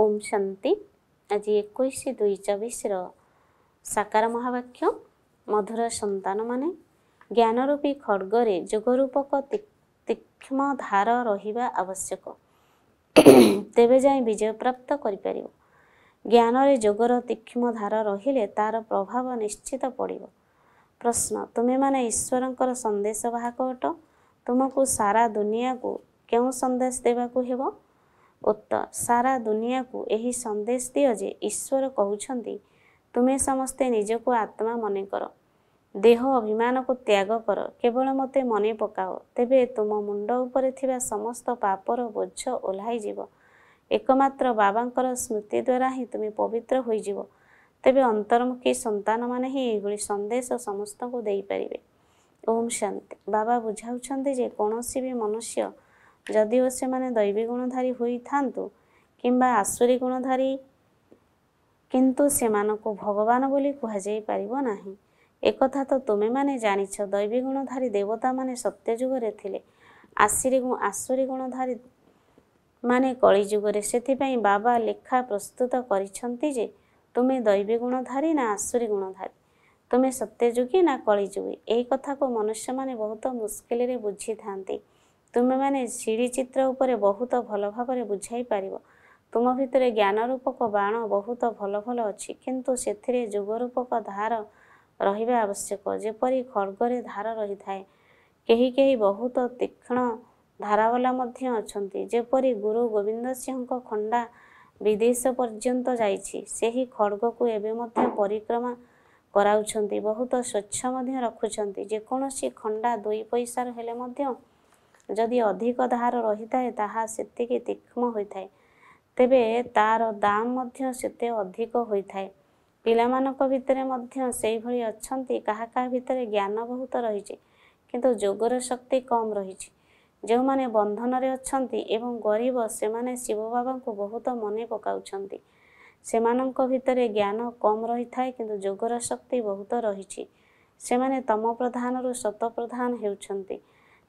ଓମ୍ ଶାନ୍ତି। ଆଜି 21/2/24ର ସାକାର ମହାବାକ୍ୟ। ମଧୁର ସନ୍ତାନମାନେ, ଜ୍ଞାନରୂପୀ ଖଡ଼ଗରେ ଯୋଗରୂପକ ତୀକ୍ଷ୍ଣ ଧାର ରହିବା ଆବଶ୍ୟକ, ତେବେ ଯାଇ ବିଜୟ ପ୍ରାପ୍ତ କରିପାରିବ। ଜ୍ଞାନରେ ଯୋଗର ତୀକ୍ଷ୍ଣ ଧାର ରହିଲେ ତାର ପ୍ରଭାବ ନିଶ୍ଚିତ ପଡ଼ିବ। ପ୍ରଶ୍ନ, ତୁମେମାନେ ଈଶ୍ୱରଙ୍କର ସନ୍ଦେଶ ବାହକ ଅଟ, ତୁମକୁ ସାରା ଦୁନିଆକୁ କେଉଁ ସନ୍ଦେଶ ଦେବାକୁ ହେବ? ଉତ୍ତର, ସାରା ଦୁନିଆକୁ ଏହି ସନ୍ଦେଶ ଦିଅ ଯେ ଈଶ୍ୱର କହୁଛନ୍ତି, ତୁମେ ସମସ୍ତେ ନିଜକୁ ଆତ୍ମା ମନେ କର, ଦେହ ଅଭିମାନକୁ ତ୍ୟାଗ କର, କେବଳ ମୋତେ ମନେ ପକାଅ, ତେବେ ତୁମ ମୁଣ୍ଡ ଉପରେ ଥିବା ସମସ୍ତ ପାପର ବୋଝ ଓହ୍ଲାଇଯିବ। ଏକମାତ୍ର ବାବାଙ୍କର ସ୍ମୃତି ଦ୍ୱାରା ହିଁ ତୁମେ ପବିତ୍ର ହୋଇଯିବ। ତେବେ ଅନ୍ତର୍ମୁଖୀ ସନ୍ତାନମାନେ ହିଁ ଏହିଭଳି ସନ୍ଦେଶ ସମସ୍ତଙ୍କୁ ଦେଇପାରିବେ। ଓମ୍ ଶାନ୍ତି। ବାବା ବୁଝାଉଛନ୍ତି ଯେ କୌଣସି ବି ମନୁଷ୍ୟ, ଯଦିଓ ସେମାନେ ଦୈବୀ ଗୁଣଧାରୀ ହୋଇଥାନ୍ତୁ କିମ୍ବା ଆସୁରୀ ଗୁଣଧାରୀ, କିନ୍ତୁ ସେମାନଙ୍କୁ ଭଗବାନ ବୋଲି କୁହାଯାଇପାରିବ ନାହିଁ। ଏକଥା ତ ତୁମେମାନେ ଜାଣିଛ। ଦୈବୀ ଗୁଣଧାରୀ ଦେବତାମାନେ ସତ୍ୟଯୁଗରେ ଥିଲେ, ଆସୁରୀ ଗୁଣଧାରୀ ମାନେ କଳିଯୁଗରେ। ସେଥିପାଇଁ ବାବା ଲେଖା ପ୍ରସ୍ତୁତ କରିଛନ୍ତି ଯେ ତୁମେ ଦୈବୀ ଗୁଣଧାରୀ ନା ଆସୁରୀ ଗୁଣଧାରୀ, ତୁମେ ସତ୍ୟଯୁଗୀ ନା କଳିଯୁଗୀ। ଏହି କଥାକୁ ମନୁଷ୍ୟମାନେ ବହୁତ ମୁସ୍କିଲରେ ବୁଝିଥାନ୍ତି। ତୁମେମାନେ ସିଡ଼ି ଚିତ୍ର ଉପରେ ବହୁତ ଭଲ ଭାବରେ ବୁଝାଇ ପାରିବ। ତୁମ ଭିତରେ ଜ୍ଞାନ ରୂପକ ବାଣ ବହୁତ ଭଲ ଭଲ ଅଛି, କିନ୍ତୁ ସେଥିରେ ଯୋଗ ରୂପକ ଧାର ରହିବା ଆବଶ୍ୟକ, ଯେପରି ଖଡ଼ଗରେ ଧାର ରହିଥାଏ। କେହି କେହି ବହୁତ ତୀକ୍ଷ୍ଣ ଧାରାବାଲା ମଧ୍ୟ ଅଛନ୍ତି, ଯେପରି ଗୁରୁ ଗୋବିନ୍ଦ ସିଂହଙ୍କ ଖଣ୍ଡା ବିଦେଶ ପର୍ଯ୍ୟନ୍ତ ଯାଇଛି। ସେହି ଖଡ଼ଗକୁ ଏବେ ମଧ୍ୟ ପରିକ୍ରମା କରାଉଛନ୍ତି, ବହୁତ ସ୍ୱଚ୍ଛ ମଧ୍ୟ ରଖୁଛନ୍ତି। ଯେକୌଣସି ଖଣ୍ଡା 2 ପଇସାର ହେଲେ ମଧ୍ୟ ଯଦି ଅଧିକ ଧାର ରହିଥାଏ, ତାହା ସେତିକି ତୀକ୍ଷ୍ଣ ହୋଇଥାଏ, ତେବେ ତାର ଦାମ ମଧ୍ୟ ସେତେ ଅଧିକ ହୋଇଥାଏ। ପିଲାମାନଙ୍କ ଭିତରେ ମଧ୍ୟ ସେଇଭଳି ଅଛନ୍ତି। କାହା କାହା ଭିତରେ ଜ୍ଞାନ ବହୁତ ରହିଛି, କିନ୍ତୁ ଯୋଗର ଶକ୍ତି କମ୍ ରହିଛି। ଯେଉଁମାନେ ବନ୍ଧନରେ ଅଛନ୍ତି ଏବଂ ଗରିବ, ସେମାନେ ଶିବ ବାବାଙ୍କୁ ବହୁତ ମନେ ପକାଉଛନ୍ତି। ସେମାନଙ୍କ ଭିତରେ ଜ୍ଞାନ କମ୍ ରହିଥାଏ, କିନ୍ତୁ ଯୋଗର ଶକ୍ତି ବହୁତ ରହିଛି। ସେମାନେ ତମ ପ୍ରଧାନରୁ ସତପ୍ରଧାନ ହେଉଛନ୍ତି।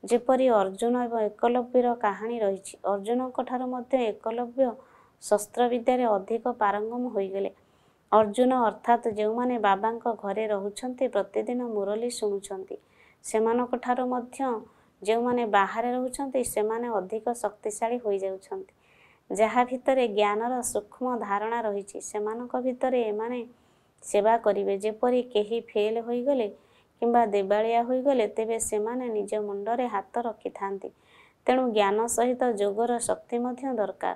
ଯେପରି ଅର୍ଜୁନ ଏବଂ ଏକଲବ୍ୟର କାହାଣୀ ରହିଛି। ଅର୍ଜୁନଙ୍କ ଠାରୁ ମଧ୍ୟ ଏକଲବ୍ୟ ଶସ୍ତ୍ରବିଦ୍ୟାରେ ଅଧିକ ପାରଙ୍ଗମ ହୋଇଗଲେ। ଅର୍ଜୁନ ଅର୍ଥାତ୍ ଯେଉଁମାନେ ବାବାଙ୍କ ଘରେ ରହୁଛନ୍ତି, ପ୍ରତିଦିନ ମୁରଲୀ ଶୁଣୁଛନ୍ତି, ସେମାନଙ୍କ ଠାରୁ ମଧ୍ୟ ଯେଉଁମାନେ ବାହାରେ ରହୁଛନ୍ତି ସେମାନେ ଅଧିକ ଶକ୍ତିଶାଳୀ ହୋଇଯାଉଛନ୍ତି। ଯାହା ଭିତରେ ଜ୍ଞାନର ସୂକ୍ଷ୍ମ ଧାରଣା ରହିଛି, ସେମାନଙ୍କ ଭିତରେ ଏମାନେ ସେବା କରିବେ। ଯେପରି କେହି ଫେଲ୍ ହୋଇଗଲେ କିମ୍ବା ଦେବାଳିଆ ହୋଇଗଲେ, ତେବେ ସେମାନେ ନିଜ ମୁଣ୍ଡରେ ହାତ ରଖିଥାନ୍ତି। ତେଣୁ ଜ୍ଞାନ ସହିତ ଯୋଗର ଶକ୍ତି ମଧ୍ୟ ଦରକାର।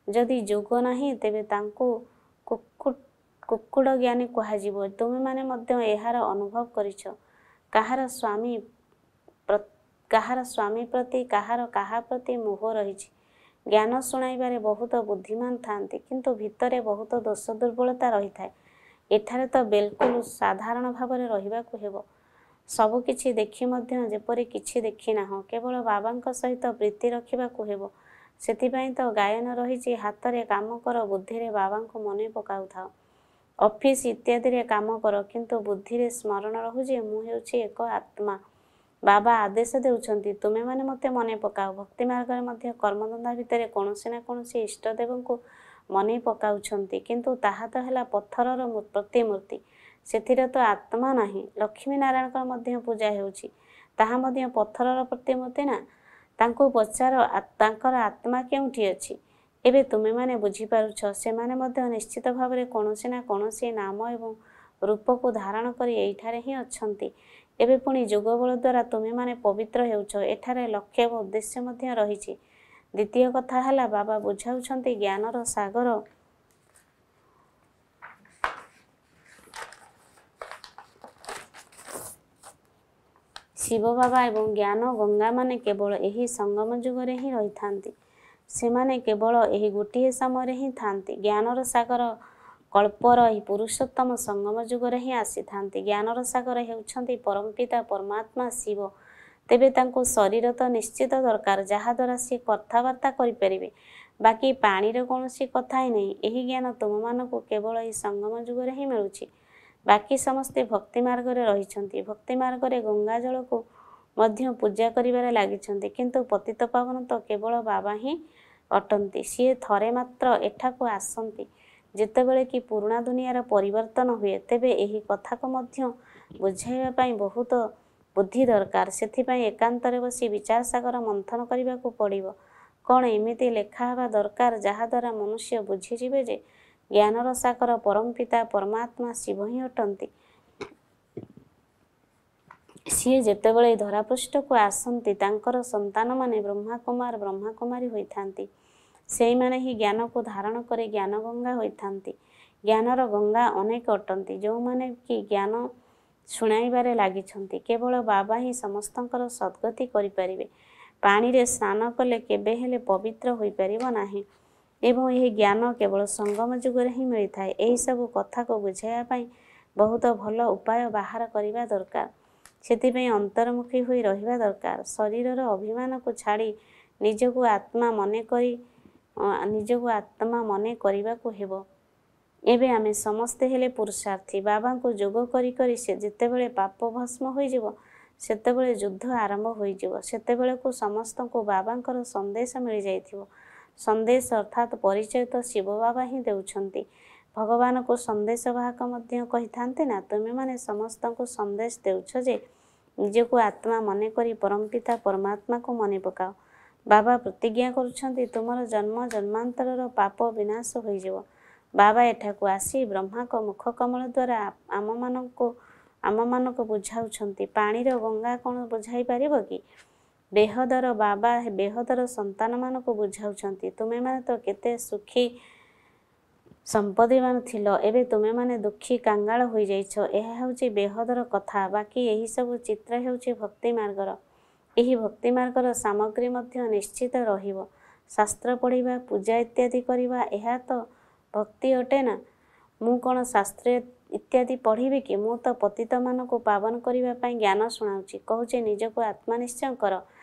ଯଦି ଯୋଗ ନାହିଁ, ତେବେ ତାଙ୍କୁ କୁକୁଡ଼ ଜ୍ଞାନୀ କୁହାଯିବ। ତୁମେମାନେ ମଧ୍ୟ ଏହାର ଅନୁଭବ କରିଛ। କାହାର ସ୍ୱାମୀ ପ୍ରତି, କାହାର କାହା ପ୍ରତି ମୋହ ରହିଛି। ଜ୍ଞାନ ଶୁଣାଇବାରେ ବହୁତ ବୁଦ୍ଧିମାନ ଥାନ୍ତି, କିନ୍ତୁ ଭିତରେ ବହୁତ ଦୋଷ ଦୁର୍ବଳତା ରହିଥାଏ। ଏଠାରେ ତ ବିଲକୁଲ ସାଧାରଣ ଭାବରେ ରହିବାକୁ ହେବ। ସବୁକିଛି ଦେଖି ମଧ୍ୟ ଯେପରି କିଛି ଦେଖିନାହଁ, କେବଳ ବାବାଙ୍କ ସହିତ ପ୍ରୀତି ରଖିବାକୁ ହେବ। ସେଥିପାଇଁ ତ ଗାୟନ ରହିଛି, ହାତରେ କାମ କର, ବୁଦ୍ଧିରେ ବାବାଙ୍କୁ ମନେ ପକାଉଥାଅ। ଅଫିସ ଇତ୍ୟାଦିରେ କାମ କର, କିନ୍ତୁ ବୁଦ୍ଧିରେ ସ୍ମରଣ ରହୁ ଯେ ମୁଁ ହେଉଛି ଏକ ଆତ୍ମା। ବାବା ଆଦେଶ ଦେଉଛନ୍ତି, ତୁମେମାନେ ମୋତେ ମନେ ପକାଅ। ଭକ୍ତି ମାର୍ଗରେ ମଧ୍ୟ କର୍ମଧନ୍ଦା ଭିତରେ କୌଣସି ନା କୌଣସି ଇଷ୍ଟଦେବଙ୍କୁ ମନେ ପକାଉଛନ୍ତି, କିନ୍ତୁ ତାହା ତ ହେଲା ପଥରର ପ୍ରତିମୂର୍ତ୍ତି, ସେଥିରେ ତ ଆତ୍ମା ନାହିଁ। ଲକ୍ଷ୍ମୀ ନାରାୟଣଙ୍କର ମଧ୍ୟ ପୂଜା ହେଉଛି, ତାହା ମଧ୍ୟ ପଥରର ପ୍ରତିମୂର୍ତ୍ତି ନା? ତାଙ୍କୁ ପଚାର, ତାଙ୍କର ଆତ୍ମା କେଉଁଠି ଅଛି? ଏବେ ତୁମେମାନେ ବୁଝିପାରୁଛ, ସେମାନେ ମଧ୍ୟ ନିଶ୍ଚିତ ଭାବରେ କୌଣସି ନା କୌଣସି ନାମ ଏବଂ ରୂପକୁ ଧାରଣ କରି ଏଇଠାରେ ହିଁ ଅଛନ୍ତି। ଏବେ ପୁଣି ଯୋଗବଳ ଦ୍ୱାରା ତୁମେମାନେ ପବିତ୍ର ହେଉଛ। ଏଠାରେ ଲକ୍ଷ୍ୟ ଏବଂ ଉଦ୍ଦେଶ୍ୟ ମଧ୍ୟ ରହିଛି। ଦ୍ୱିତୀୟ କଥା ହେଲା, ବାବା ବୁଝାଉଛନ୍ତି ଜ୍ଞାନର ସାଗର ଶିବ ବାବା ଏବଂ ଜ୍ଞାନ ଗଙ୍ଗାମାନେ କେବଳ ଏହି ସଙ୍ଗମ ଯୁଗରେ ହିଁ ରହିଥାନ୍ତି। ସେମାନେ କେବଳ ଏହି ଗୋଟିଏ ସମୟରେ ହିଁ ଥାନ୍ତି। ଜ୍ଞାନର ସାଗର କଳ୍ପର ଏହି ପୁରୁଷୋତ୍ତମ ସଙ୍ଗମ ଯୁଗରେ ହିଁ ଆସିଥାନ୍ତି। ଜ୍ଞାନର ସାଗର ହେଉଛନ୍ତି ପରମପିତା ପରମାତ୍ମା ଶିବ। ତେବେ ତାଙ୍କୁ ଶରୀର ତ ନିଶ୍ଚିତ ଦରକାର, ଯାହାଦ୍ୱାରା ସିଏ କଥାବାର୍ତ୍ତା କରିପାରିବେ। ବାକି ପାଣିର କୌଣସି କଥା ହିଁ ନାହିଁ। ଏହି ଜ୍ଞାନ ତୁମମାନଙ୍କୁ କେବଳ ଏହି ସଙ୍ଗମ ଯୁଗରେ ହିଁ ମିଳୁଛି। ବାକି ସମସ୍ତେ ଭକ୍ତି ମାର୍ଗରେ ରହିଛନ୍ତି। ଭକ୍ତି ମାର୍ଗରେ ଗଙ୍ଗା ଜଳକୁ ମଧ୍ୟ ପୂଜା କରିବାରେ ଲାଗିଛନ୍ତି, କିନ୍ତୁ ପତିତ ପାବନ ତ କେବଳ ବାବା ହିଁ ଅଟନ୍ତି। ସିଏ ଥରେ ମାତ୍ର ଏଠାକୁ ଆସନ୍ତି, ଯେତେବେଳେ କି ପୁରୁଣା ଦୁନିଆର ପରିବର୍ତ୍ତନ ହୁଏ। ତେବେ ଏହି କଥାକୁ ମଧ୍ୟ ବୁଝାଇବା ପାଇଁ ବହୁତ ବୁଦ୍ଧି ଦରକାର। ସେଥିପାଇଁ ଏକାନ୍ତରେ ବସି ବିଚାର ସାଗର ମନ୍ଥନ କରିବାକୁ ପଡ଼ିବ। କ'ଣ ଏମିତି ଲେଖା ହେବା ଦରକାର, ଯାହାଦ୍ୱାରା ମନୁଷ୍ୟ ବୁଝିଯିବେ ଯେ ଜ୍ଞାନର ସାଗର ପରମପିତା ପରମାତ୍ମା ଶିବ ହିଁ ଅଟନ୍ତି। ସିଏ ଯେତେବେଳେ ଧରାପୃଷ୍ଠକୁ ଆସନ୍ତି, ତାଙ୍କର ସନ୍ତାନମାନେ ବ୍ରହ୍ମାକୁମାର ବ୍ରହ୍ମାକୁମାରୀ ହୋଇଥାନ୍ତି। ସେଇମାନେ ହିଁ ଜ୍ଞାନକୁ ଧାରଣ କରି ଜ୍ଞାନ ଗଙ୍ଗା ହୋଇଥାନ୍ତି। ଜ୍ଞାନର ଗଙ୍ଗା ଅନେକ ଅଟନ୍ତି, ଯେଉଁମାନେ କି ଜ୍ଞାନ ଶୁଣାଇବାରେ ଲାଗିଛନ୍ତି। କେବଳ ବାବା ହିଁ ସମସ୍ତଙ୍କର ସଦ୍ଗତି କରିପାରିବେ। ପାଣିରେ ସ୍ନାନ କଲେ କେବେ ହେଲେ ପବିତ୍ର ହୋଇପାରିବ ନାହିଁ ଏବଂ ଏହି ଜ୍ଞାନ କେବଳ ସଙ୍ଗମ ଯୁଗରେ ହିଁ ମିଳିଥାଏ। ଏହିସବୁ କଥାକୁ ବୁଝାଇବା ପାଇଁ ବହୁତ ଭଲ ଉପାୟ ବାହାର କରିବା ଦରକାର। ସେଥିପାଇଁ ଅନ୍ତର୍ମୁଖୀ ହୋଇ ରହିବା ଦରକାର। ଶରୀରର ଅଭିମାନକୁ ଛାଡ଼ି ନିଜକୁ ଆତ୍ମା ମନେ କରି ନିଜକୁ ଆତ୍ମା ମନେ କରିବାକୁ ହେବ। ଏବେ ଆମେ ସମସ୍ତେ ହେଲେ ପୁରୁଷାର୍ଥୀ। ବାବାଙ୍କୁ ଯୋଗ କରି କରି ସେ ଯେତେବେଳେ ପାପ ଭସ୍ମ ହୋଇଯିବ, ସେତେବେଳେ ଯୁଦ୍ଧ ଆରମ୍ଭ ହୋଇଯିବ। ସେତେବେଳକୁ ସମସ୍ତଙ୍କୁ ବାବାଙ୍କର ସନ୍ଦେଶ ମିଳିଯାଇଥିବ। ସନ୍ଦେଶ ଅର୍ଥାତ୍ ପରିଚୟ ତ ଶିବ ବାବା ହିଁ ଦେଉଛନ୍ତି। ଭଗବାନଙ୍କୁ ସନ୍ଦେଶ ବାହକ ମଧ୍ୟ କହିଥାନ୍ତି ନା। ତୁମେମାନେ ସମସ୍ତଙ୍କୁ ସନ୍ଦେଶ ଦେଉଛ ଯେ ନିଜକୁ ଆତ୍ମା ମନେ କରି ପରମପିତା ପରମାତ୍ମାକୁ ମନେ ପକାଅ। ବାବା ପ୍ରତିଜ୍ଞା କରୁଛନ୍ତି, ତୁମର ଜନ୍ମ ଜନ୍ମାନ୍ତରର ପାପ ବିନାଶ ହୋଇଯିବ। ବାବା ଏଠାକୁ ଆସି ବ୍ରହ୍ମାଙ୍କ ମୁଖ କମଳ ଦ୍ୱାରା ଆମମାନଙ୍କୁ ବୁଝାଉଛନ୍ତି। ପାଣିର ଗଙ୍ଗା କ'ଣ ବୁଝାଇ ପାରିବ କି? ବେହଦର ବାବା ବେହଦର ସନ୍ତାନମାନଙ୍କୁ ବୁଝାଉଛନ୍ତି, ତୁମେମାନେ ତ କେତେ ସୁଖୀ ସମ୍ପତ୍ତିବାନ ଥିଲ, ଏବେ ତୁମେମାନେ ଦୁଃଖୀ କାଙ୍ଗାଳ ହୋଇଯାଇଛ। ଏହା ହେଉଛି ବେହଦର କଥା। ବାକି ଏହିସବୁ ଚିତ୍ର ହେଉଛି ଭକ୍ତି ମାର୍ଗର। ଏହି ଭକ୍ତି ମାର୍ଗର ସାମଗ୍ରୀ ମଧ୍ୟ ନିଶ୍ଚିତ ରହିବ। ଶାସ୍ତ୍ର ପଢ଼ିବା, ପୂଜା ଇତ୍ୟାଦି କରିବା, ଏହା ତ ଭକ୍ତି ଅଟେ ନା? ମୁଁ କ'ଣ ଶାସ୍ତ୍ର ଇତ୍ୟାଦି ପଢ଼ିବି କି? ମୁଁ ତ ପତିତମାନଙ୍କୁ ପାବନ କରିବା ପାଇଁ ଜ୍ଞାନ ଶୁଣାଉଛି। କହୁଛି, ନିଜକୁ ଆତ୍ମା ନିଶ୍ଚୟ କର।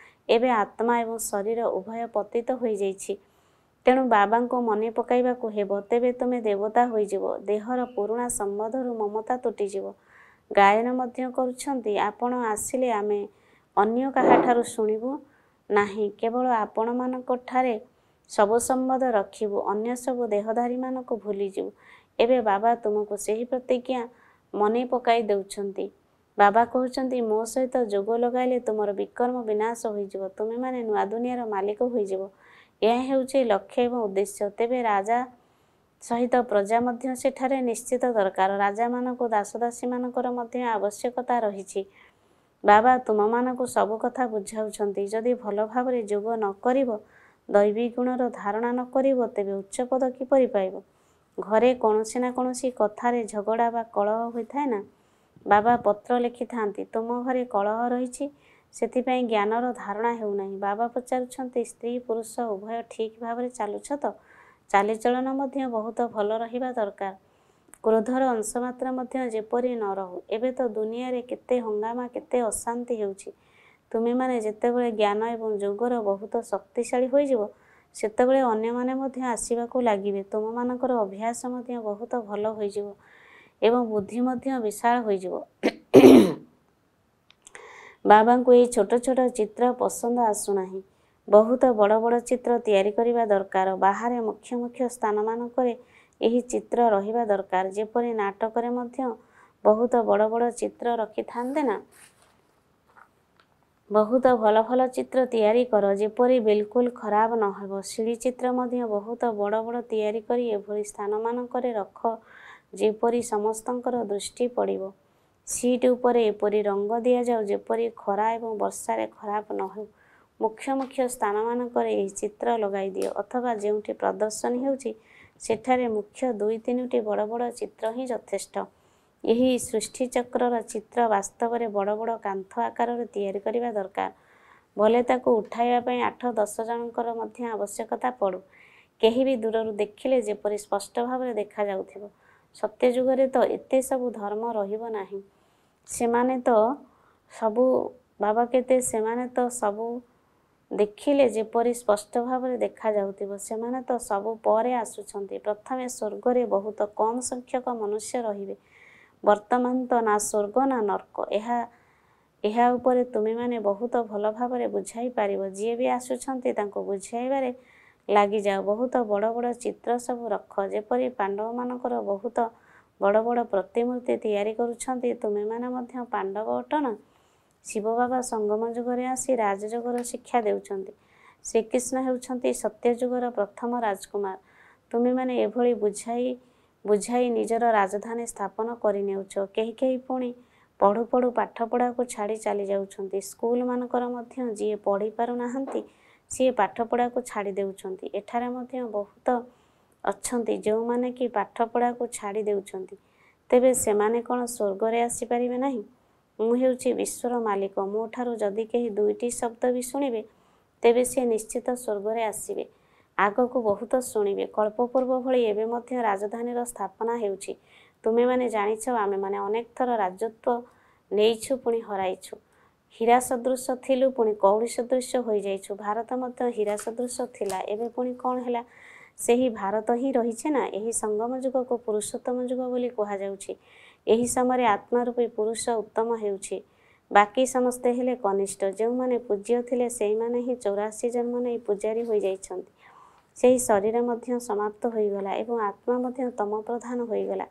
ଏବେ ଆତ୍ମା ଏବଂ ଶରୀର ଉଭୟ ପତିତ ହୋଇଯାଇଛି। ତେଣୁ ବାବାଙ୍କୁ ମନେ ପକାଇବାକୁ ହେବ। ତେବେ ତୁମେ ଦେବତା ହୋଇଯିବ। ଦେହର ପୁରୁଣା ସମ୍ବନ୍ଧରୁ ମମତା ତୁଟିଯିବ। ଗାୟନ ମଧ୍ୟ କରୁଛନ୍ତି, ଆପଣ ଆସିଲେ ଆମେ ଅନ୍ୟ କାହାଠାରୁ ଶୁଣିବୁ ନାହିଁ, କେବଳ ଆପଣମାନଙ୍କ ଠାରେ ସବୁ ସମ୍ବନ୍ଧ ରଖିବୁ, ଅନ୍ୟ ସବୁ ଦେହଧାରୀମାନଙ୍କୁ ଭୁଲିଯିବୁ। ଏବେ ବାବା ତୁମକୁ ସେହି ପ୍ରତିଜ୍ଞା ମନେ ପକାଇ ଦେଉଛନ୍ତି। ବାବା କହୁଛନ୍ତି, ମୋ ସହିତ ଯୋଗ ଲଗାଇଲେ ତୁମର ବିକର୍ମ ବିନାଶ ହୋଇଯିବ, ତୁମେମାନେ ନୂଆ ଦୁନିଆର ମାଲିକ ହୋଇଯିବ। ଏହା ହେଉଛି ଲକ୍ଷ୍ୟ ଏବଂ ଉଦ୍ଦେଶ୍ୟ। ତେବେ ରାଜା ସହିତ ପ୍ରଜା ମଧ୍ୟ ସେଠାରେ ନିଶ୍ଚିତ ଦରକାର। ରାଜାମାନଙ୍କୁ ଦାସଦାସୀମାନଙ୍କର ମଧ୍ୟ ଆବଶ୍ୟକତା ରହିଛି। ବାବା ତୁମମାନଙ୍କୁ ସବୁ କଥା ବୁଝାଉଛନ୍ତି। ଯଦି ଭଲ ଭାବରେ ଯୋଗ ନ କରିବ, ଦୈବୀ ଗୁଣର ଧାରଣା ନ କରିବ, ତେବେ ଉଚ୍ଚ ପଦ କିପରି ପାଇବ? ଘରେ କୌଣସି ନା କୌଣସି କଥାରେ ଝଗଡ଼ା ବା କଳହ ହୋଇଥାଏ ନା? ବାବା ପତ୍ର ଲେଖିଥାନ୍ତି, ତୁମ ଘରେ କଳହ ରହିଛି, ସେଥିପାଇଁ ଜ୍ଞାନର ଧାରଣା ହେଉନାହିଁ। ବାବା ପଚାରୁଛନ୍ତି, ସ୍ତ୍ରୀ ପୁରୁଷ ଉଭୟ ଠିକ୍ ଭାବରେ ଚାଲୁଛ ତ? ଚାଲିଚଳନ ମଧ୍ୟ ବହୁତ ଭଲ ରହିବା ଦରକାର। କ୍ରୋଧର ଅଂଶ ମାତ୍ର ମଧ୍ୟ ଯେପରି ନ ରହୁ। ଏବେ ତ ଦୁନିଆରେ କେତେ ହଙ୍ଗାମା, କେତେ ଅଶାନ୍ତି ହେଉଛି। ତୁମେମାନେ ଯେତେବେଳେ ଜ୍ଞାନ ଏବଂ ଯୋଗର ବହୁତ ଶକ୍ତିଶାଳୀ ହୋଇଯିବ, ସେତେବେଳେ ଅନ୍ୟମାନେ ମଧ୍ୟ ଆସିବାକୁ ଲାଗିବେ। ତୁମମାନଙ୍କର ଅଭ୍ୟାସ ମଧ୍ୟ ବହୁତ ଭଲ ହୋଇଯିବ ଏବଂ ବୁଦ୍ଧି ମଧ୍ୟ ବିଶାଳ ହୋଇଯିବ। ବାବାଙ୍କୁ ଏହି ଛୋଟ ଛୋଟ ଚିତ୍ର ପସନ୍ଦ ଆସୁନାହିଁ। ବହୁତ ବଡ଼ ବଡ଼ ଚିତ୍ର ତିଆରି କରିବା ଦରକାର। ବାହାରେ ମୁଖ୍ୟ ମୁଖ୍ୟ ସ୍ଥାନମାନଙ୍କରେ ଏହି ଚିତ୍ର ରହିବା ଦରକାର। ଯେପରି ନାଟକରେ ମଧ୍ୟ ବହୁତ ବଡ଼ ବଡ଼ ଚିତ୍ର ରଖିଥାନ୍ତି ନା? ବହୁତ ଭଲ ଭଲ ଚିତ୍ର ତିଆରି କର, ଯେପରି ବିଲକୁଲ ଖରାପ ନ ହେବ। ସିଡ଼ି ଚିତ୍ର ମଧ୍ୟ ବହୁତ ବଡ଼ ବଡ଼ ତିଆରି କରି ଏଭଳି ସ୍ଥାନମାନଙ୍କରେ ରଖ, ଯେପରି ସମସ୍ତଙ୍କର ଦୃଷ୍ଟି ପଡ଼ିବ। ସିଟ୍ ଉପରେ ଏପରି ରଙ୍ଗ ଦିଆଯାଉ, ଯେପରି ଖରା ଏବଂ ବର୍ଷାରେ ଖରାପ ନ ହେଉ। ମୁଖ୍ୟ ମୁଖ୍ୟ ସ୍ଥାନମାନଙ୍କରେ ଏହି ଚିତ୍ର ଲଗାଇ ଦିଅ, ଅଥବା ଯେଉଁଠି ପ୍ରଦର୍ଶନୀ ହେଉଛି ସେଠାରେ ମୁଖ୍ୟ 2 3ଟି ବଡ଼ ବଡ଼ ଚିତ୍ର ହିଁ ଯଥେଷ୍ଟ। ଏହି ସୃଷ୍ଟିଚକ୍ରର ଚିତ୍ର ବାସ୍ତବରେ ବଡ଼ ବଡ଼ କାନ୍ଥ ଆକାରରେ ତିଆରି କରିବା ଦରକାର। ଭଲେ ତାକୁ ଉଠାଇବା ପାଇଁ 8 10 ଜଣଙ୍କର ମଧ୍ୟ ଆବଶ୍ୟକତା ପଡ଼ୁ। କେହି ବି ଦୂରରୁ ଦେଖିଲେ ଯେପରି ସ୍ପଷ୍ଟ ଭାବରେ ଦେଖାଯାଉଥିବ। ସତ୍ୟଯୁଗରେ ତ ଏତେ ସବୁ ଧର୍ମ ରହିବ ନାହିଁ। ସେମାନେ ତ ସବୁ ବାବା କେତେ, ସେମାନେ ତ ସବୁ ଦେଖିଲେ ଯେପରି ସ୍ପଷ୍ଟ ଭାବରେ ଦେଖାଯାଉଥିବ। ସେମାନେ ତ ସବୁ ପରେ ଆସୁଛନ୍ତି। ପ୍ରଥମେ ସ୍ୱର୍ଗରେ ବହୁତ କମ୍ ସଂଖ୍ୟକ ମନୁଷ୍ୟ ରହିବେ। ବର୍ତ୍ତମାନ ତ ନା ସ୍ୱର୍ଗ ନା ନର୍କ। ଏହା ଉପରେ ତୁମେମାନେ ବହୁତ ଭଲ ଭାବରେ ବୁଝାଇ ପାରିବ। ଯିଏ ବି ଆସୁଛନ୍ତି ତାଙ୍କୁ ବୁଝାଇବାରେ ଲାଗିଯାଅ। ବହୁତ ବଡ଼ ବଡ଼ ଚିତ୍ର ସବୁ ରଖ। ଯେପରି ପାଣ୍ଡବମାନଙ୍କର ବହୁତ ବଡ଼ ବଡ଼ ପ୍ରତିମୂର୍ତ୍ତି ତିଆରି କରୁଛନ୍ତି, ତୁମେମାନେ ମଧ୍ୟ ପାଣ୍ଡବ ଅଟ ନା? ଶିବ ବାବା ସଙ୍ଗମ ଯୁଗରେ ଆସି ରାଜଯୋଗର ଶିକ୍ଷା ଦେଉଛନ୍ତି। ଶ୍ରୀକୃଷ୍ଣ ହେଉଛନ୍ତି ସତ୍ୟଯୁଗର ପ୍ରଥମ ରାଜକୁମାର। ତୁମେମାନେ ଏଭଳି ବୁଝାଇ ବୁଝାଇ ନିଜର ରାଜଧାନୀ ସ୍ଥାପନ କରିନେଉଛ। କେହି କେହି ପୁଣି ପଢ଼ୁ ପଢ଼ୁ ପାଠପଢ଼ାକୁ ଛାଡ଼ି ଚାଲି ଯାଉଛନ୍ତି। ସ୍କୁଲମାନଙ୍କର ମଧ୍ୟ ଯିଏ ପଢ଼ି ପାରୁନାହାନ୍ତି ସିଏ ପାଠପଢ଼ାକୁ ଛାଡ଼ି ଦେଉଛନ୍ତି। ଏଠାରେ ମଧ୍ୟ ବହୁତ ଅଛନ୍ତି ଯେଉଁମାନେ କି ପାଠପଢ଼ାକୁ ଛାଡ଼ି ଦେଉଛନ୍ତି। ତେବେ ସେମାନେ କ'ଣ ସ୍ୱର୍ଗରେ ଆସିପାରିବେ ନାହିଁ? ମୁଁ ହେଉଛି ବିଶ୍ୱର ମାଲିକ। ମୋ ଠାରୁ ଯଦି କେହି ଦୁଇଟି ଶବ୍ଦ ବି ଶୁଣିବେ, ତେବେ ସିଏ ନିଶ୍ଚିତ ସ୍ୱର୍ଗରେ ଆସିବେ। ଆଗକୁ ବହୁତ ଶୁଣିବେ। କଳ୍ପ ପୂର୍ବ ଭଳି ଏବେ ମଧ୍ୟ ରାଜଧାନୀର ସ୍ଥାପନା ହେଉଛି। ତୁମେମାନେ ଜାଣିଛ, ଆମେମାନେ ଅନେକ ଥର ରାଜତ୍ୱ ନେଇଛୁ, ପୁଣି ହରାଇଛୁ। ହୀରା ସଦୃଶ ଥିଲୁ, ପୁଣି କଉଡ଼ି ସଦୃଶ ହୋଇଯାଇଛୁ। ଭାରତ ମଧ୍ୟ ହୀରା ସଦୃଶ ଥିଲା, ଏବେ ପୁଣି କ'ଣ ହେଲା? ସେହି ଭାରତ ହିଁ ରହିଛି ନା? ଏହି ସଙ୍ଗମ ଯୁଗକୁ ପୁରୁଷୋତ୍ତମ ଯୁଗ ବୋଲି କୁହାଯାଉଛି। ଏହି ସମୟରେ ଆତ୍ମା ରୂପୀ ପୁରୁଷ ଉତ୍ତମ ହେଉଛି, ବାକି ସମସ୍ତେ ହେଲେ କନିଷ୍ଠ। ଯେଉଁମାନେ ପୂଜ୍ୟ ଥିଲେ ସେଇମାନେ ହିଁ 84 ଜନ୍ମ ନେଇ ପୂଜାରୀ ହୋଇଯାଇଛନ୍ତି। ସେହି ଶରୀର ମଧ୍ୟ ସମାପ୍ତ ହୋଇଗଲା ଏବଂ ଆତ୍ମା ମଧ୍ୟ ତମ ପ୍ରଧାନ ହୋଇଗଲା।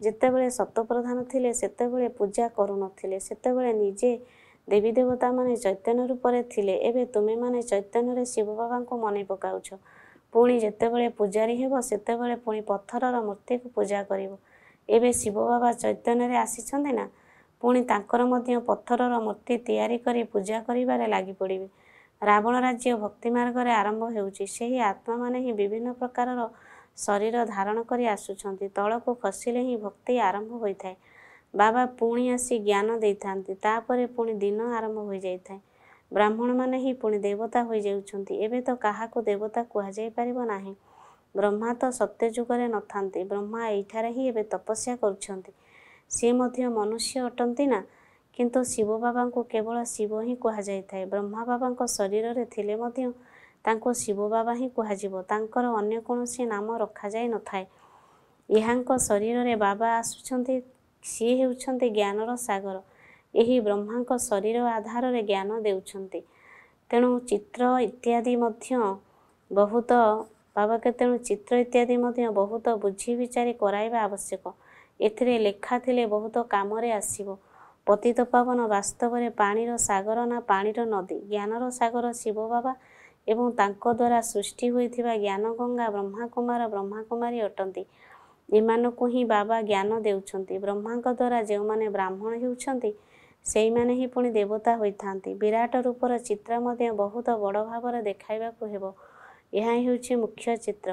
ଯେତେବେଳେ ସତ୍ୱପ୍ରଧାନ ଥିଲେ ସେତେବେଳେ ପୂଜା କରୁନଥିଲେ। ସେତେବେଳେ ନିଜେ ଦେବୀ ଦେବତାମାନେ ଚୈତନ୍ୟ ରୂପରେ ଥିଲେ। ଏବେ ତୁମେମାନେ ଚୈତନ୍ୟରେ ଶିବ ବାବାଙ୍କୁ ମନେ ପକାଉଛ। ପୁଣି ଯେତେବେଳେ ପୂଜାରୀ ହେବ ସେତେବେଳେ ପୁଣି ପଥରର ମୂର୍ତ୍ତିକୁ ପୂଜା କରିବ। ଏବେ ଶିବ ବାବା ଚୈତନ୍ୟରେ ଆସିଛନ୍ତି ନା, ପୁଣି ତାଙ୍କର ମଧ୍ୟ ପଥରର ମୂର୍ତ୍ତି ତିଆରି କରି ପୂଜା କରିବାରେ ଲାଗି ପଡ଼ିବେ। ରାବଣ ରାଜ୍ୟ ଭକ୍ତି ମାର୍ଗରେ ଆରମ୍ଭ ହେଉଛି। ସେହି ଆତ୍ମାମାନେ ହିଁ ବିଭିନ୍ନ ପ୍ରକାରର ଶରୀର ଧାରଣ କରି ଆସୁଛନ୍ତି। ତଳକୁ ଖସିଲେ ହିଁ ଭକ୍ତି ଆରମ୍ଭ ହୋଇଥାଏ। ବାବା ପୁଣି ଆସି ଜ୍ଞାନ ଦେଇଥାନ୍ତି, ତାପରେ ପୁଣି ଦିନ ଆରମ୍ଭ ହୋଇଯାଇଥାଏ। ବ୍ରାହ୍ମଣମାନେ ହିଁ ପୁଣି ଦେବତା ହୋଇଯାଉଛନ୍ତି। ଏବେ ତ କାହାକୁ ଦେବତା କୁହାଯାଇପାରିବ ନାହିଁ। ବ୍ରହ୍ମା ତ ସତ୍ୟଯୁଗରେ ନଥାନ୍ତି। ବ୍ରହ୍ମା ଏଇଠାରେ ହିଁ ଏବେ ତପସ୍ୟା କରୁଛନ୍ତି। ସିଏ ମଧ୍ୟ ମନୁଷ୍ୟ ଅଟନ୍ତି ନା? କିନ୍ତୁ ଶିବ ବାବାଙ୍କୁ କେବଳ ଶିବ ହିଁ କୁହାଯାଇଥାଏ। ବ୍ରହ୍ମା ବାବାଙ୍କ ଶରୀରରେ ଥିଲେ ମଧ୍ୟ ତାଙ୍କୁ ଶିବ ବାବା ହିଁ କୁହାଯିବ। ତାଙ୍କର ଅନ୍ୟ କୌଣସି ନାମ ରଖାଯାଇ ନଥାଏ। ଏହାଙ୍କ ଶରୀରରେ ବାବା ଆସୁଛନ୍ତି, ସିଏ ହେଉଛନ୍ତି ଜ୍ଞାନର ସାଗର। ଏହି ବ୍ରହ୍ମାଙ୍କ ଶରୀର ଆଧାରରେ ଜ୍ଞାନ ଦେଉଛନ୍ତି। ତେଣୁ ଚିତ୍ର ଇତ୍ୟାଦି ମଧ୍ୟ ବହୁତ ବାବାକେ ତେଣୁ ଚିତ୍ର ଇତ୍ୟାଦି ମଧ୍ୟ ବହୁତ ବୁଝି ବିଚାରି କରାଇବା ଆବଶ୍ୟକ। ଏଥିରେ ଲେଖା ଥିଲେ ବହୁତ କାମରେ ଆସିବ। ପତିତ ପାବନ ବାସ୍ତବରେ ପାଣିର ସାଗର ନା ପାଣିର ନଦୀ? ଜ୍ଞାନର ସାଗର ଶିବ ବାବା ଏବଂ ତାଙ୍କ ଦ୍ୱାରା ସୃଷ୍ଟି ହୋଇଥିବା ଜ୍ଞାନଗଙ୍ଗା ବ୍ରହ୍ମାକୁମାର ବ୍ରହ୍ମାକୁମାରୀ ଅଟନ୍ତି। ଏମାନଙ୍କୁ ହିଁ ବାବା ଜ୍ଞାନ ଦେଉଛନ୍ତି। ବ୍ରହ୍ମାଙ୍କ ଦ୍ୱାରା ଯେଉଁମାନେ ବ୍ରାହ୍ମଣ ହେଉଛନ୍ତି ସେଇମାନେ ହିଁ ପୁଣି ଦେବତା ହୋଇଥାନ୍ତି। ବିରାଟ ରୂପର ଚିତ୍ର ମଧ୍ୟ ବହୁତ ବଡ଼ ଭାବରେ ଦେଖାଇବାକୁ ହେବ। ଏହା ହେଉଛି ମୁଖ୍ୟ ଚିତ୍ର।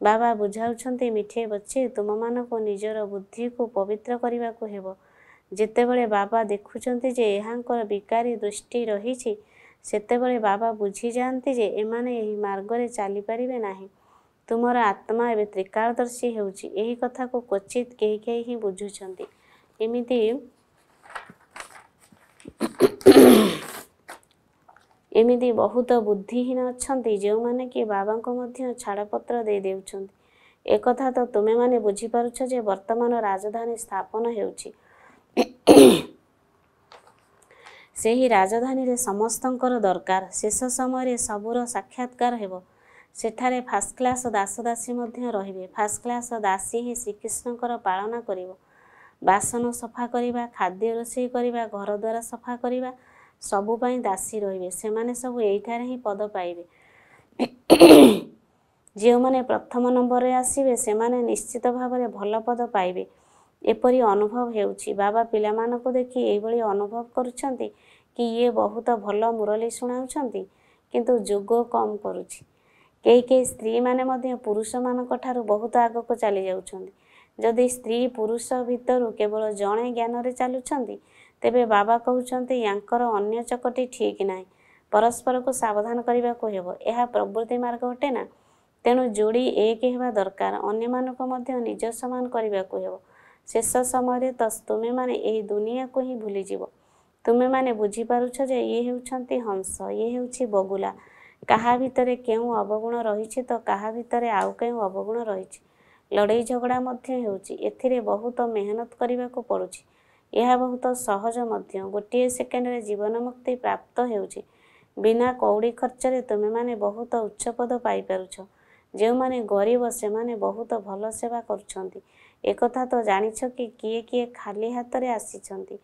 ବାବା ବୁଝାଉଛନ୍ତି, ମିଠେ ବଚ୍ଚେ, ତୁମମାନଙ୍କୁ ନିଜର ବୁଦ୍ଧିକୁ ପବିତ୍ର କରିବାକୁ ହେବ। ଯେତେବେଳେ ବାବା ଦେଖୁଛନ୍ତି ଯେ ଏହାଙ୍କର ବିକାରୀ ଦୃଷ୍ଟି ରହିଛି, ସେତେବେଳେ ବାବା ବୁଝିଯାଆନ୍ତି ଯେ ଏମାନେ ଏହି ମାର୍ଗରେ ଚାଲିପାରିବେ ନାହିଁ। ତୁମର ଆତ୍ମା ଏବେ ତ୍ରିକାଳଦର୍ଶୀ ହେଉଛି। ଏହି କଥାକୁ କ୍ୱଚିତ୍ କେହି କେହି ହିଁ ବୁଝୁଛନ୍ତି। ଏମିତି ବହୁତ ବୁଦ୍ଧିହୀନ ଅଛନ୍ତି ଯେଉଁମାନେ କି ବାବାଙ୍କୁ ମଧ୍ୟ ଛାଡ଼ପତ୍ର ଦେଇ ଦେଉଛନ୍ତି। ଏକଥା ତ ତୁମେମାନେ ବୁଝିପାରୁଛ ଯେ ବର୍ତ୍ତମାନ ରାଜଧାନୀ ସ୍ଥାପନ ହେଉଛି। ସେହି ରାଜଧାନୀରେ ସମସ୍ତଙ୍କର ଦରକାର। ଶେଷ ସମୟରେ ସବୁର ସାକ୍ଷାତକାର ହେବ। ସେଠାରେ ଫାର୍ଷ୍ଟ କ୍ଲାସ୍ ଦାସଦାସୀ ମଧ୍ୟ ରହିବେ। ଫାର୍ଷ୍ଟ କ୍ଲାସ୍ ଦାସୀ ହିଁ ଶ୍ରୀକୃଷ୍ଣଙ୍କର ପାଳନା କରିବ। ବାସନ ସଫା କରିବା, ଖାଦ୍ୟ ରୋଷେଇ କରିବା, ଘର ଦ୍ୱାର ସଫା କରିବା, ସବୁ ପାଇଁ ଦାସୀ ରହିବେ। ସେମାନେ ସବୁ ଏଇଠାରେ ହିଁ ପଦ ପାଇବେ। ଯେଉଁମାନେ ପ୍ରଥମ ନମ୍ବରରେ ଆସିବେ ସେମାନେ ନିଶ୍ଚିତ ଭାବରେ ଭଲ ପଦ ପାଇବେ। ଏପରି ଅନୁଭବ ହେଉଛି। ବାବା ପିଲାମାନଙ୍କୁ ଦେଖି ଏଇଭଳି ଅନୁଭବ କରୁଛନ୍ତି କି ଇଏ ବହୁତ ଭଲ ମୁରଲୀ ଶୁଣାଉଛନ୍ତି, କିନ୍ତୁ ଯୋଗ କମ୍ କରୁଛି। କେହି କେହି ସ୍ତ୍ରୀମାନେ ମଧ୍ୟ ପୁରୁଷମାନଙ୍କ ଠାରୁ ବହୁତ ଆଗକୁ ଚାଲି ଯାଉଛନ୍ତି। ଯଦି ସ୍ତ୍ରୀ ପୁରୁଷ ଭିତରୁ କେବଳ ଜଣେ ଜ୍ଞାନରେ ଚାଲୁଛନ୍ତି, ତେବେ ବାବା କହୁଛନ୍ତି ୟାଙ୍କର ଅନ୍ୟ ଚକଟି ଠିକ୍ ନାହିଁ। ପରସ୍ପରକୁ ସାବଧାନ କରିବାକୁ ହେବ। ଏହା ପ୍ରବୃତ୍ତି ମାର୍ଗ ଅଟେ ନା? ତେଣୁ ଯୋଡ଼ି ଏକ ହେବା ଦରକାର। ଅନ୍ୟମାନଙ୍କୁ ମଧ୍ୟ ନିଜ ସମାନ କରିବାକୁ ହେବ। ଶେଷ ସମୟରେ ତ ତୁମେମାନେ ଏହି ଦୁନିଆକୁ ହିଁ ଭୁଲିଯିବ। ତୁମେମାନେ ବୁଝିପାରୁଛ ଯେ ଇଏ ହେଉଛନ୍ତି ହଂସ, ଇଏ ହେଉଛି ବଗୁଲା। କାହା ଭିତରେ କେଉଁ ଅବଗୁଣ ରହିଛି ତ କାହା ଭିତରେ ଆଉ କେଉଁ ଅବଗୁଣ ରହିଛି। ଲଢ଼େଇ ଝଗଡ଼ା ମଧ୍ୟ ହେଉଛି। ଏଥିରେ ବହୁତ ମେହନତ କରିବାକୁ ପଡ଼ୁଛି। ଏହା ବହୁତ ସହଜ ମଧ୍ୟ। ଗୋଟିଏ ସେକେଣ୍ଡରେ ଜୀବନ ମୁକ୍ତି ପ୍ରାପ୍ତ ହେଉଛି। ବିନା କଉଡ଼ି ଖର୍ଚ୍ଚରେ ତୁମେମାନେ ବହୁତ ଉଚ୍ଚ ପଦ ପାଇପାରୁଛ। ଯେଉଁମାନେ ଗରିବ ସେମାନେ ବହୁତ ଭଲ ସେବା କରୁଛନ୍ତି। ଏକଥା ତ ଜାଣିଛ କି କିଏ କିଏ ଖାଲି ହାତରେ ଆସିଛନ୍ତି।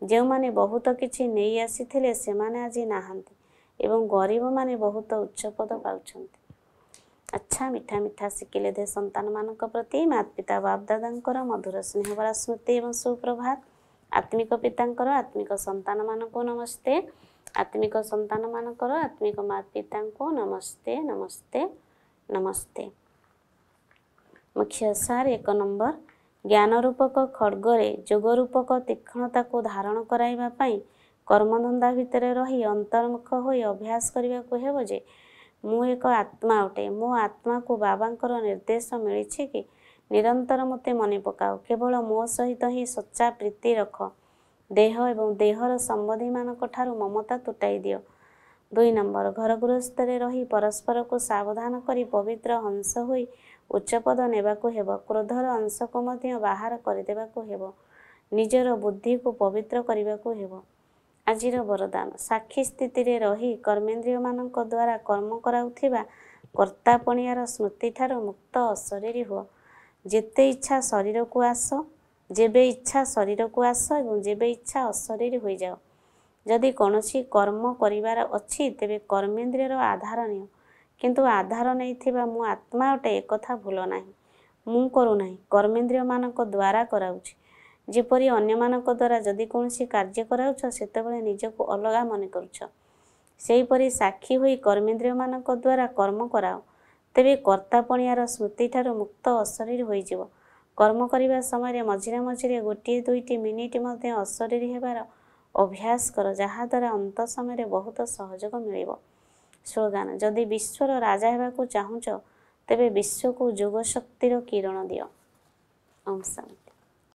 ଯେଉଁମାନେ ବହୁତ କିଛି ନେଇ ଆସିଥିଲେ ସେମାନେ ଆଜି ନାହାନ୍ତି ଏବଂ ଗରିବମାନେ ବହୁତ ଉଚ୍ଚ ପଦ ପାଉଛନ୍ତି। ଆଚ୍ଛା, ମିଠା ମିଠା ସିକିଲେ ଦେ ସନ୍ତାନମାନଙ୍କ ପ୍ରତି ମାତା ପିତା ବାପଦାଦାଙ୍କର ମଧୁର ସ୍ନେହଭରା ସ୍ମୃତି ଏବଂ ସୁପ୍ରଭାତ। ଆତ୍ମିକ ପିତାଙ୍କର ଆତ୍ମିକ ସନ୍ତାନମାନଙ୍କୁ ନମସ୍ତେ। ଆତ୍ମିକ ସନ୍ତାନମାନଙ୍କର ଆତ୍ମିକ ମାତା ପିତାଙ୍କୁ ନମସ୍ତେ, ନମସ୍ତେ, ନମସ୍ତେ। ମୁଖ୍ୟ ସାର 1 ନମ୍ବର, ଜ୍ଞାନ ରୂପକ ଖଡ଼ଗରେ ଯୋଗ ରୂପକ ତୀକ୍ଷ୍ଣତାକୁ ଧାରଣ କରାଇବା ପାଇଁ କର୍ମଧନ୍ଦା ଭିତରେ ରହି ଅନ୍ତର୍ମୁଖ ହୋଇ ଅଭ୍ୟାସ କରିବାକୁ ହେବ ଯେ ମୁଁ ଏକ ଆତ୍ମା ଅଟେ। ମୋ ଆତ୍ମାକୁ ବାବାଙ୍କର ନିର୍ଦ୍ଦେଶ ମିଳିଛି କି ନିରନ୍ତର ମୋତେ ମନେ ପକାଅ, କେବଳ ମୋ ସହିତ ହିଁ ସଚ୍ଚା ପ୍ରୀତି ରଖ। ଦେହ ଏବଂ ଦେହର ସମ୍ବନ୍ଧୀମାନଙ୍କ ଠାରୁ ମମତା ତୁଟାଇ ଦିଅ। 2 ନମ୍ବର, ଘର ଗୃହସ୍ଥରେ ରହି ପରସ୍ପରକୁ ସାବଧାନ କରି ପବିତ୍ର ହଂସ ହୋଇ ଉଚ୍ଚ ପଦ ନେବାକୁ ହେବ। କ୍ରୋଧର ଅଂଶକୁ ମଧ୍ୟ ବାହାର କରିଦେବାକୁ ହେବ। ନିଜର ବୁଦ୍ଧିକୁ ପବିତ୍ର କରିବାକୁ ହେବ। ଆଜିର ବରଦାନ, ସାକ୍ଷୀ ସ୍ଥିତିରେ ରହି କର୍ମେନ୍ଦ୍ରିୟମାନଙ୍କ ଦ୍ୱାରା କର୍ମ କରାଉଥିବା କର୍ତ୍ତାପଣିଆର ସ୍ମୃତିଠାରୁ ମୁକ୍ତ ଅଶରୀରୀ ହୁଅ। ଯେତେ ଇଚ୍ଛା ଶରୀରକୁ ଆସ, ଯେବେ ଇଚ୍ଛା ଶରୀରକୁ ଆସ ଏବଂ ଯେବେ ଇଚ୍ଛା ଅଶରୀରୀ ହୋଇଯାଅ। ଯଦି କୌଣସି କର୍ମ କରିବାର ଅଛି ତେବେ କର୍ମେନ୍ଦ୍ରିୟର ଆଧାର ନିଅ, କିନ୍ତୁ ଆଧାର ନେଇଥିବା ମୁଁ ଆତ୍ମା ଅଟେ ଏକଥା ଭୁଲ ନାହିଁ। ମୁଁ କରୁନାହିଁ, କର୍ମେନ୍ଦ୍ରିୟମାନଙ୍କ ଦ୍ୱାରା କରାଉଛି। ଯେପରି ଅନ୍ୟମାନଙ୍କ ଦ୍ୱାରା ଯଦି କୌଣସି କାର୍ଯ୍ୟ କରାଉଛ ସେତେବେଳେ ନିଜକୁ ଅଲଗା ମନେ କରୁଛ, ସେହିପରି ସାକ୍ଷୀ ହୋଇ କର୍ମେନ୍ଦ୍ରିୟମାନଙ୍କ ଦ୍ୱାରା କର୍ମ କରାଅ, ତେବେ କର୍ତ୍ତାପଣିଆର ସ୍ମୃତିଠାରୁ ମୁକ୍ତ ଅଶରୀର ହୋଇଯିବ। କର୍ମ କରିବା ସମୟରେ ମଝିରେ ମଝିରେ ଗୋଟିଏ ଦୁଇଟି ମିନିଟ୍ ମଧ୍ୟ ଅଶରୀରୀ ହେବାର ଅଭ୍ୟାସ କର, ଯାହାଦ୍ୱାରା ଅନ୍ତ ସମୟରେ ବହୁତ ସହଯୋଗ ମିଳିବ। ସ୍ଲୋଗାନ, ଯଦି ବିଶ୍ୱର ରାଜା ହେବାକୁ ଚାହୁଁଛ ତେବେ ବିଶ୍ୱକୁ ଯୋଗ ଶକ୍ତିର କିରଣ ଦିଅ। ଓମ୍ ଶାନ୍ତି।